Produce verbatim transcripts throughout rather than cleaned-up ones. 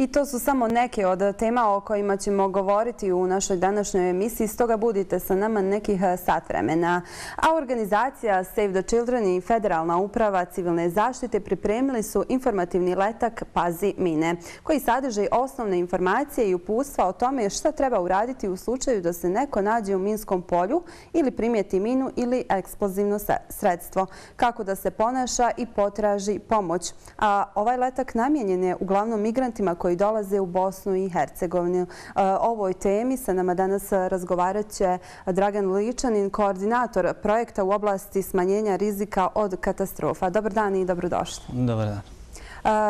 I to su samo neke od tema o kojima ćemo govoriti u našoj današnjoj emisiji, stoga budite sa nama nekih sat vremena. A organizacija Save the Children i Federalna uprava civilne zaštite pripremili su informativni letak Pazi mine, koji sadrži osnovne informacije i uputstva o tome šta treba uraditi u slučaju da se neko nađe u minskom polju ili primijeti minu ili eksplozivno sredstvo, kako da se ponaša i potraži pomoć. A ovaj letak namijenjen je uglavnom migrantima koji dolaze u Bosnu i Hercegovinu. O ovoj temi sa nama danas razgovarat će Dragan Ličanin, koordinator projekta u oblasti smanjenja rizika od katastrofa. Dobar dan i dobrodošli. Dobar dan.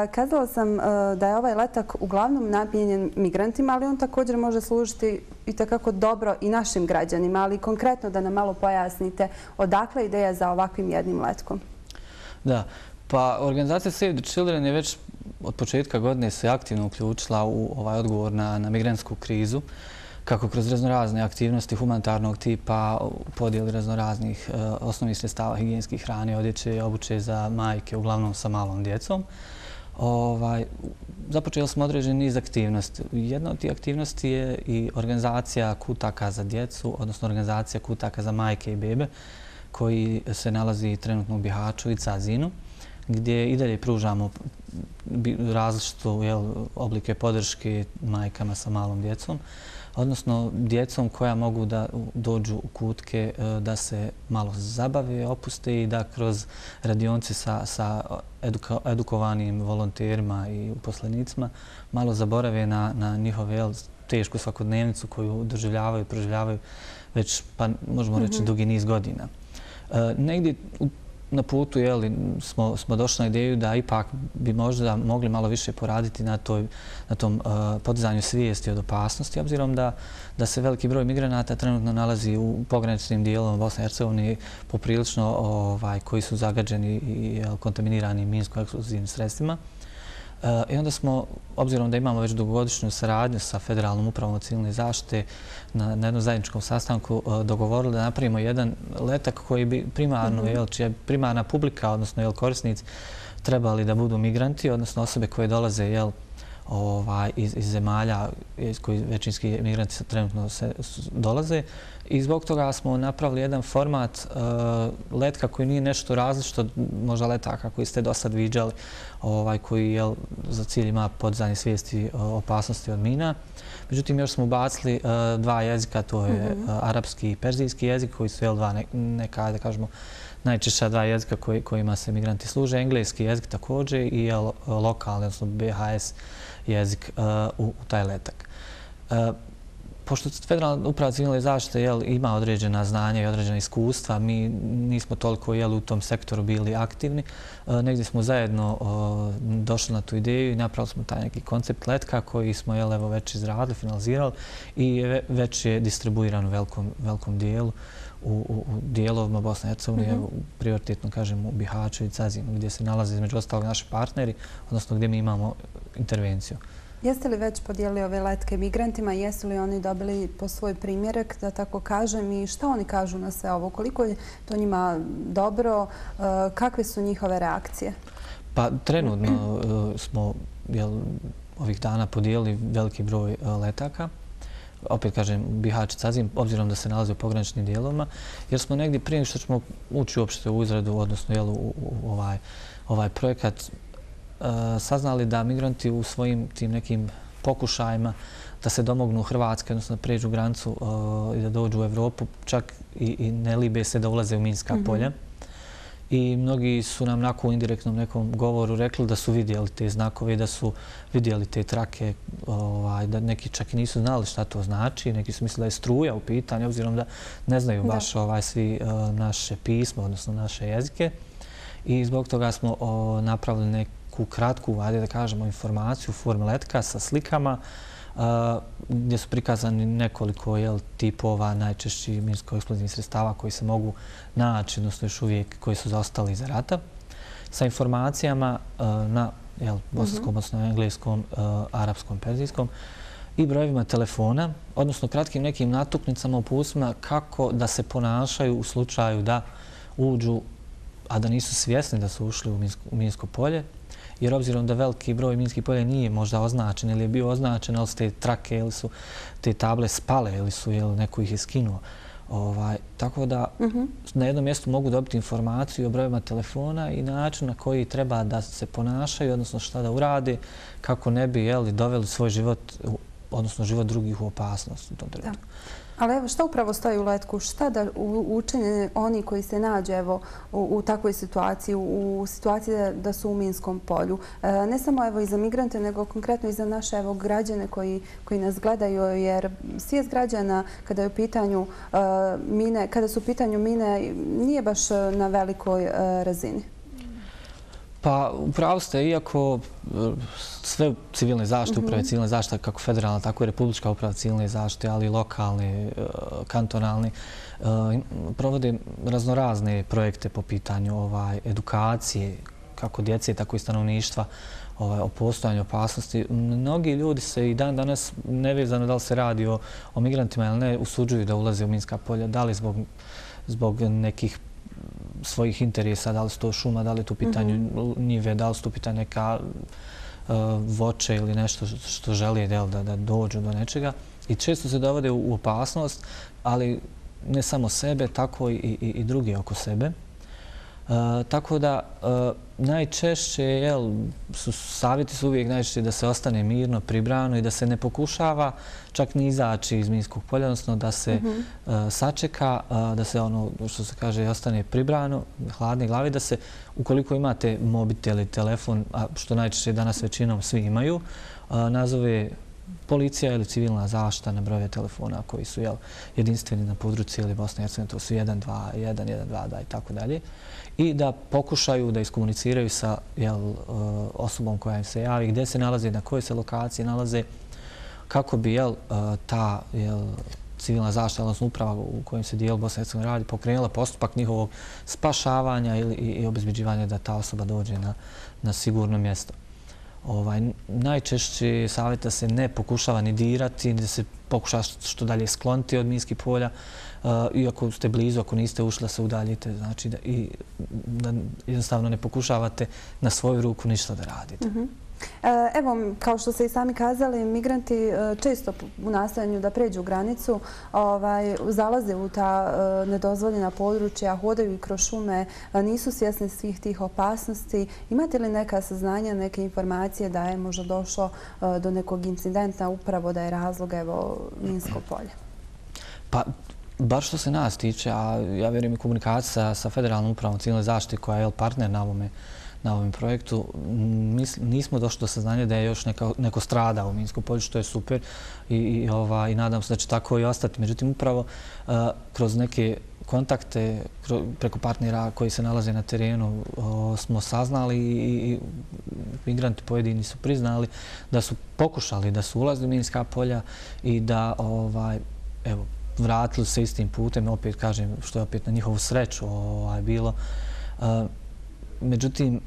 Kazala sam da je ovaj letak uglavnom namijenjen migrantima, ali on također može služiti i takako dobro i našim građanima, ali konkretno da nam malo pojasnite odakle ideja za ovakvim jednim letkom. Da, pa organizacija Save the Children je već od početka godine se aktivno uključila u ovaj odgovor na, na migrantsku krizu, kako kroz raznorazne aktivnosti humanitarnog tipa, podijeli raznoraznih e, osnovnih sredstava higijenskih hrane, odjeće i obuće za majke, uglavnom sa malom djecom. Ovaj, započeli smo određen niz aktivnosti. Jedna od tih aktivnosti je i organizacija kutaka za djecu, odnosno organizacija kutaka za majke i bebe, koji se nalazi trenutno u Bihaću i Cazinu, gdje i dalje pružamo različite oblike podrške majkama sa malom djecom, odnosno djecom koja mogu da dođu u kutke, da se malo zabave, opuste i da kroz radionice sa, sa eduka, edukovanim volonterima i uposlenicima malo zaborave na, na njihove jel, tešku svakodnevnicu koju doživljavaju i proživljavaju već, pa možemo reći, mm-hmm. dugi niz godina. E, negdje u na putu jeli, smo, smo došli na ideju da ipak bi možda mogli malo više poraditi na, toj, na tom uh, podizanju svijesti od opasnosti, obzirom da, da se veliki broj migranata trenutno nalazi u pograničnim dijelom Bosne i Hercegovine poprilično ovaj, koji su zagađeni i jel, kontaminirani minsko-eksplozivnim sredstvima. Uh, I onda smo, obzirom da imamo već dugogodišnju saradnju sa Federalnom upravom civilne zaštite na, na jednom zajedničkom sastanku uh, dogovorili da napravimo jedan letak koji bi primarno, mm-hmm. jel, čija primarna publika, odnosno jel, korisnici, trebali da budu migranti, odnosno osobe koje dolaze jel, ovaj, iz, iz zemalja iz koji većinski migranti trenutno se, dolaze. I zbog toga smo napravili jedan format uh, letka koji nije nešto različito, možda letaka koji ste do sad viđali, ovaj, koji jel, za cilj ima podizanje svijesti uh, opasnosti od mina. Međutim, još smo ubacili uh, dva jezika, to je mm-hmm. uh, arapski i perzijski jezik, koji su jel, dva ne, neka, da kažemo, najčešća dva jezika koji, kojima se migranti služe. Engleski jezik također i jel, lokalni, odnosno B H S jezik uh, u, u taj letak. Uh, Pošto Federalna uprava civilne zaštite jel, ima određena znanja i određena iskustva, mi nismo toliko jel, u tom sektoru bili aktivni. E, negdje smo zajedno o, došli na tu ideju i napravili smo taj neki koncept letka koji smo jel, evo, već izradili, finalizirali i već je distribuiran u velikom, velikom dijelu u, u, u dijelovima Bosne i Hercegovine, mm-hmm. prioritetno kažem u Bihaću i Cazinu, gdje se nalaze između ostalog naši partneri, odnosno gdje mi imamo intervenciju. Jeste li već podijelili ove letke migrantima? Jesu li oni dobili po svoj primjerak, da tako kažem, i šta oni kažu na sve ovo? Koliko je to njima dobro? Kakve su njihove reakcije? Pa trenutno smo jel, ovih dana podijelili veliki broj letaka. Opet kažem, Bihać i Cazin, obzirom da se nalaze u pograničnim dijelovima, jer smo negdje prije što ćemo ući uopšte u izradu, odnosno jel, u, u ovaj, ovaj projekat, saznali da migranti u svojim tim nekim pokušajima da se domognu Hrvatske, odnosno da pređu granicu uh, i da dođu u Evropu, čak i, i ne libe se da ulaze u minska mm-hmm. polja. I mnogi su nam nakon u indirektnom nekom govoru rekli da su vidjeli te znakove, da su vidjeli te trake, ovaj, da neki čak i nisu znali šta to znači, neki su mislili da je struja u pitanju, obzirom da ne znaju baš ovaj, svi uh, naše pismo, odnosno naše jezike. I zbog toga smo o, napravili neku kratku, ajde da kažemo, informaciju u formi letka sa slikama a, gdje su prikazani nekoliko jel, tipova najčešći minsko-eksplozivnih sredstava koji se mogu naći, odnosno još uvijek koji su zaostali iza rata, sa informacijama a, na jel, bosanskom, odnosno engleskom, a, arapskom, perzijskom i brojevima telefona, odnosno kratkim nekim natuknicama, uputstvima kako da se ponašaju u slučaju da uđu a da nisu svjesni da su ušli u minsko polje, jer obzirom da veliki broj minskih polja nije možda označen ili je bio označen, ali su te trake ili su te table spale ili su neko ih je skinuo. Tako da na jednom mjestu mogu dobiti informaciju o brojima telefona i način na koji treba da se ponašaju, odnosno šta da urade, kako ne bi doveli svoj život, odnosno život drugih u opasnost u tom trenutku. Ali evo, šta upravo stoji u letku? Šta da učine oni koji se nađu u takvoj situaciji, u situaciji da su u minskom polju? Ne samo i za migrante, nego konkretno i za naše građane koji nas gledaju, jer svijest građana kada su u pitanju mine nije baš na velikoj razini. Pa, upravo ste, iako sve civilne zaštite, uprave civilne zaštite, kako federalna, tako i republička uprava civilne zaštite, ali i lokalni, kantonalni, provode raznorazne projekte po pitanju edukacije, kako djece, tako i stanovništva, o postojanju opasnosti. Mnogi ljudi se i dan danas, nevezano da li se radi o migrantima ili ne, usuđuju da ulaze u minska polja, da li zbog nekih svojih interesa, da li su to šuma, da li je tu pitanju njive, da li su tu pitanju neka voće ili nešto što želi da dođu do nečega. I često se dovode u opasnost, ali ne samo sebe, tako i drugi oko sebe. Tako da najčešće su savjeti su uvijek najčešće da se ostane mirno, pribrano i da se ne pokušava čak ni izaći iz minskog polja, odnosno da se sačeka, da se ono što se kaže ostane pribrano, hladne glave, da se ukoliko imate mobitel ili telefon, a što najčešće danas većinom svi imaju, nazove policija ili civilna zaštita na brojeve telefona koji su jedinstveni na području cijeli Bosne i Hercegovine, to su jedan dva jedan, jedan dva dva i tako dalje. I da pokušaju da iskomuniciraju sa osobom koja im se javi, gdje se nalaze, na kojoj se lokaciji nalaze, kako bi ta civilna zaštita, odnosno uprava u kojem se dijel Bosne i Hercegovine radi, pokrenula postupak njihovog spašavanja i obezbeđivanja da ta osoba dođe na sigurno mjesto. Najčešće savjeta se ne pokušava ni dirati, da se pokuša što dalje skloniti od minskih polja. I ako ste blizu, ako niste ušli, da se udaljite. Znači da jednostavno ne pokušavate na svoju ruku ništa da radite. Evo, kao što ste i sami kazali, migranti često u nastojanju da pređu granicu zalaze u ta nedozvoljena područja, hodaju i kroz šume, nisu svjesni svih tih opasnosti. Imate li neka saznanja, neke informacije da je možda došlo do nekog incidenta, upravo da je razlog minsko polje? Pa, bar što se nas tiče, a ja vjerujem i komunikacija sa Federalnom upravom civilne zaštite koja je partner na ovome na ovom projektu, nismo došli do saznanja da je još neko stradao u minskom polju, što je super i nadam se da će tako i ostati. Međutim, upravo kroz neke kontakte preko partnera koji se nalaze na terenu smo saznali i migranti pojedini su priznali da su pokušali da su ulazili u minska polja i da vratili se istim putem, opet kažem, što je opet na njihovu sreću bilo. Međutim,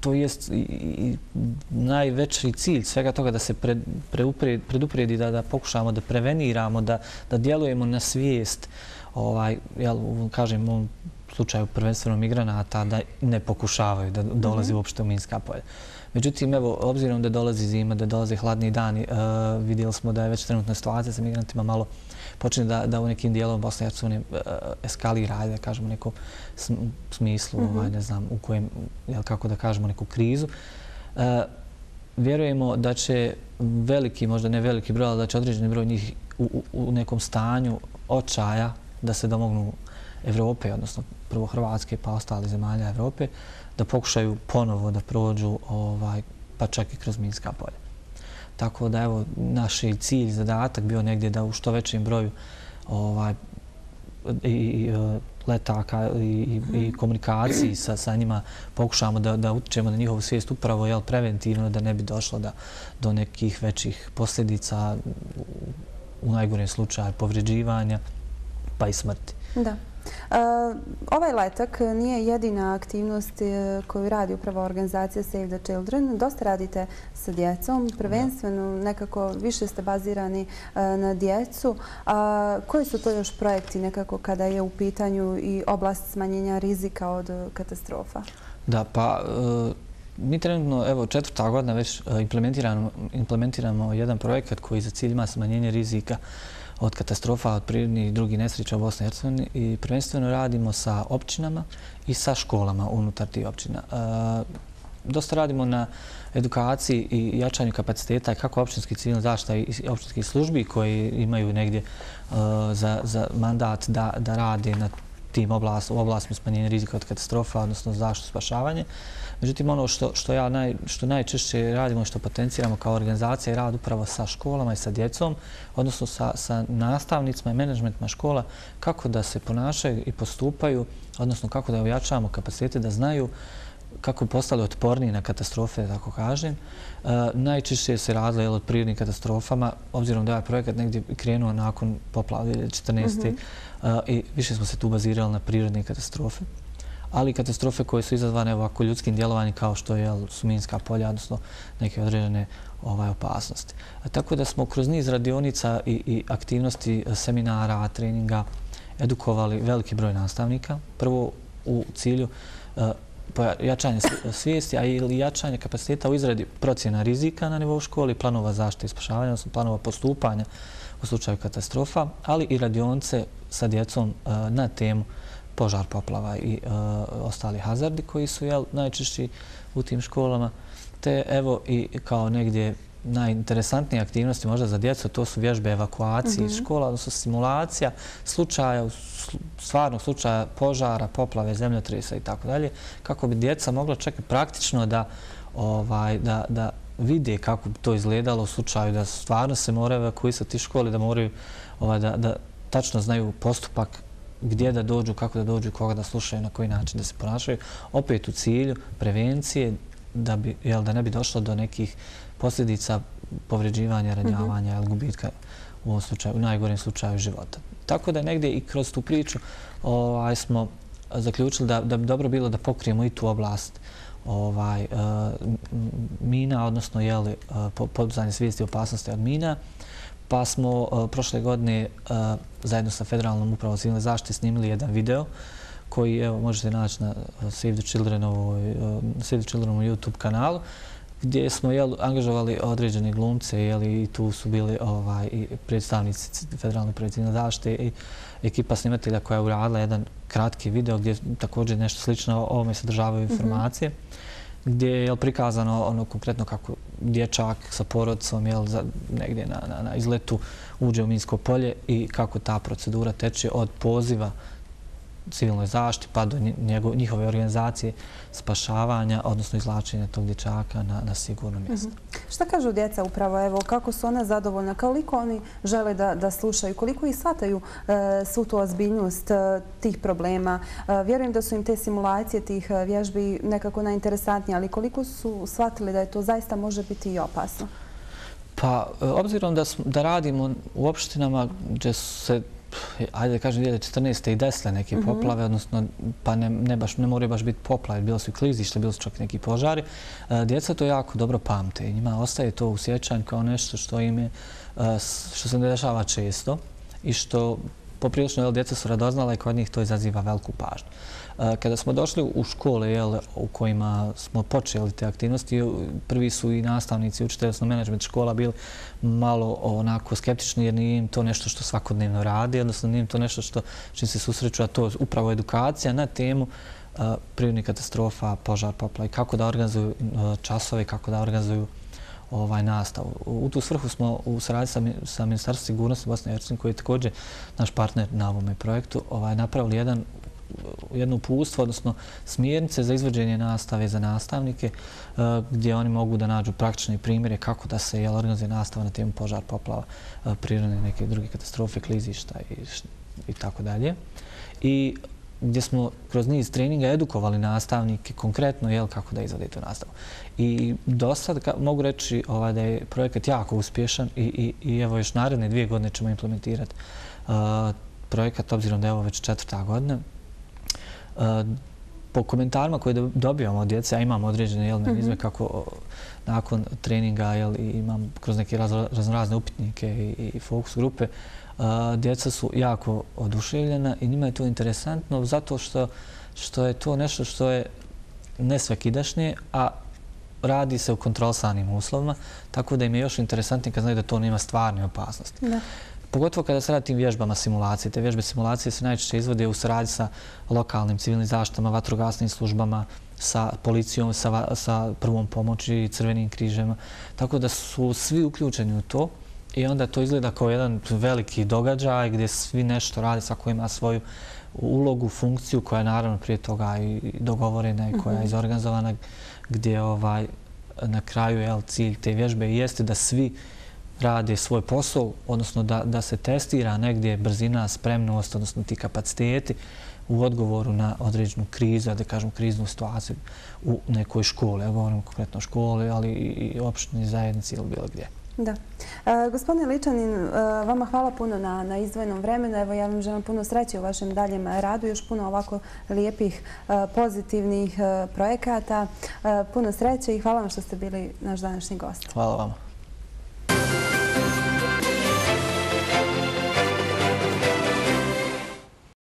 to je najveći cilj svega toga da se predupredi, da pokušamo da preveniramo, da djelujemo na svijest, kažem u ovom slučaju prvenstveno migranata, da ne pokušavaju da dolazi uopšte u minska polja. Međutim, evo, obzirom da dolazi zima, da dolaze hladni dani, vidjeli smo da je već trenutna situacija sa migrantima malo počne da u nekim dijelom Bosne i Hercegovine eskalira, da kažemo, u nekom smislu, ne znam, u kojem, kako da kažemo, neku krizu. Vjerujemo da će veliki, možda ne veliki broj, ali da će određeni broj njih u nekom stanju očaja da se domognu Evrope, odnosno prvo Hrvatske pa ostali zemalja Evrope, da pokušaju ponovo da prođu pa čak i kroz minska polja. Tako da, evo, naš cilj, zadatak bio negdje da u što većem broju letaka i komunikaciji sa njima pokušamo da utičemo na njihovu svijest upravo preventivno, da ne bi došlo do nekih većih posljedica, u najgorem slučaju povređivanja pa i smrti. Da. Ovaj letak nije jedina aktivnost koju radi upravo organizacija Save the Children. Dosta radite sa djecom, prvenstveno nekako više ste bazirani na djecu. Koji su to još projekti nekako kada je u pitanju i oblast smanjenja rizika od katastrofa? Da, pa mi trenutno, evo, četvrta godina već implementiramo jedan projekat koji za cilj ima smanjenje rizika od katastrofa, od prirodnih i drugih nesreća u Bosni i Hercegovini i prvenstveno radimo sa općinama i sa školama unutar tih općina. Dosta radimo na edukaciji i jačanju kapaciteta kako općinskih civilnih zaštita i općinskih službi koji imaju negdje za mandat da rade na tim u oblastima smanjenja rizika od katastrofa, odnosno zaštitu spašavanje. Međutim, ono što najčešće radimo i što potenciramo kao organizacija je rad upravo sa školama i sa djecom, odnosno sa nastavnicima i menadžmentima škola, kako da se ponašaju i postupaju, odnosno kako da ojačavamo kapacitete da znaju kako bi postali otporniji na katastrofe, da tako kažem. Najčešće se radilo od prirodnih katastrofama, obzirom da je ovaj projekat negdje krenuo nakon poplava dvije hiljade četrnaeste. i više smo se tu bazirali na prirodne katastrofe, ali i katastrofe koje su izazvane ovako ljudskim djelovanjem kao što su minska polja, odnosno neke određene opasnosti. Tako da smo kroz niz radionica i aktivnosti, seminara, treninga edukovali veliki broj nastavnika. Prvo u cilju jačanja svijesti, a i jačanja kapaciteta u izradi procjena rizika na nivou školi, planova zaštite i spašavanja, odnosno planova postupanja u slučaju katastrofa, ali i radionice sa djecom na temu požar, poplava i ostali hazardi koji su najčešći u tim školama. Te evo i kao negdje najinteresantnije aktivnosti možda za djecu, to su vježbe evakuacije iz škola, odnosno simulacija slučaja, stvarnog slučaja požara, poplave, zemljotresa i tako dalje, kako bi djeca mogla čak i praktično da vide kako bi to izgledalo u slučaju da stvarno se moraju evakuisati iz škole, da moraju da tačno znaju postupak gdje da dođu, kako da dođu, koga da slušaju, na koji način da se ponašaju. Opet u cilju prevencije da ne bi došlo do nekih posljedica povređivanja, ranjavanja ili gubitka u ovom slučaju, u najgorem slučaju života. Tako da negdje i kroz tu priču smo zaključili da bi dobro bilo da pokrijemo i tu oblast mina, odnosno podizanje svijesti o opasnosti od mina. Pa smo prošle godine zajedno sa Federalnom upravom civilne zaštite snimili jedan video koji možete naći na Save the Childrenovom YouTube kanalu, gdje smo angažovali određene glumce i tu su bili predstavnici Federalne uprave civilne zaštite i ekipa snimatelja koja je uradila jedan kratki video gdje također nešto slično o ovome sadržavaju informacije, gdje je prikazano ono konkretno kako dječak sa porodicom negdje na izletu uđe u minsko polje i kako ta procedura teče od poziva civilnoj zaštiti pa do njihove organizacije spašavanja, odnosno izvlačenja tog dječaka na sigurno mjesto. Šta kažu djeca upravo? Evo, kako su ona zadovoljna? Koliko oni žele da slušaju? Koliko i shvataju svu tu ozbiljnost tih problema? Vjerujem da su im te simulacije tih vježbi nekako najinteresantnije, ali koliko su shvatili da je to zaista može biti i opasno? Pa, obzirom da radimo u opštinama gdje su se ajde da kažem, dvije hiljade četrnaeste i desile neke poplave, odnosno pa ne moraju baš biti poplave, bilo su i klizište, bilo su čak neki požari. Djeca to jako dobro pamte i njima ostaje to u sjećanju kao nešto što im je, što se ne dešava često i što poprilično djeca su radoznala i kod njih to izaziva veliku pažnju. Kada smo došli u škole u kojima smo počeli te aktivnosti, prvi su i nastavnici, učitelji, odnosno menadžment škola bili malo onako skeptični jer nije im to nešto što svakodnevno radi, odnosno nije im to nešto što čim se susreću, a to je upravo edukacija na temu prirodnih katastrofa, požar, poplava i kako da organizuju časove, kako da organizuju nastavu. U tu svrhu smo u saradnji sa Ministarstvom sigurnosti Bosne i Hercegovine, koji je također naš partner na ovome projektu, napravili jedan jedno uputstvo, odnosno smjernice za izvođenje nastave za nastavnike, gdje oni mogu da nađu praktične primjere kako da se organizuje nastava na temu požar, poplava, prirodne neke druge katastrofe, klizišta i tako dalje. I gdje smo kroz niz treninga edukovali nastavnike konkretno kako da izvode tu nastavu. I do sad mogu reći da je projekat jako uspješan i evo još naredne dvije godine ćemo implementirati projekat, obzirom da je ovo već četvrta godina. Po komentarima koje dobijamo od djece, a imamo određene mehanizme kako nakon treninga imam kroz neke raznorazne upitnike i fokus grupe, djeca su jako oduševljena i njima je to interesantno zato što je to nešto što je nesvakidašnje, a radi se u kontrolisanim uslovima, tako da im je još interesantnije kad znaju da to nema stvarne opasnosti. Pogotovo kada se radi tim vježbama simulacije. Te vježbe simulacije se najčešće izvode u saradnji sa lokalnim civilnim zaštitama, vatrogasnim službama, sa policijom, sa prvom pomoći, crvenim križema. Tako da su svi uključeni u to i onda to izgleda kao jedan veliki događaj gdje svi nešto rade, svako ima svoju ulogu, funkciju koja je naravno prije toga i dogovorena i koja je izorganizovana, gdje na kraju cilj te vježbe jeste da svi rade svoj posao, odnosno da se testira negdje brzina, spremnost, odnosno ti kapaciteti u odgovoru na određenu krizu, da kažem kriznu situaciju u nekoj školi. Ja govorim konkretno o školi, ali i opštini, zajednici ili bilo gdje. Da. Gospodine Ličanin, vama hvala puno na izdvojenom vremenu. Evo, ja vam želim puno sreće u vašem daljem radu, još puno ovako lijepih, pozitivnih projekata. Puno sreće i hvala vam što ste bili naš današnji gost. Hvala vama.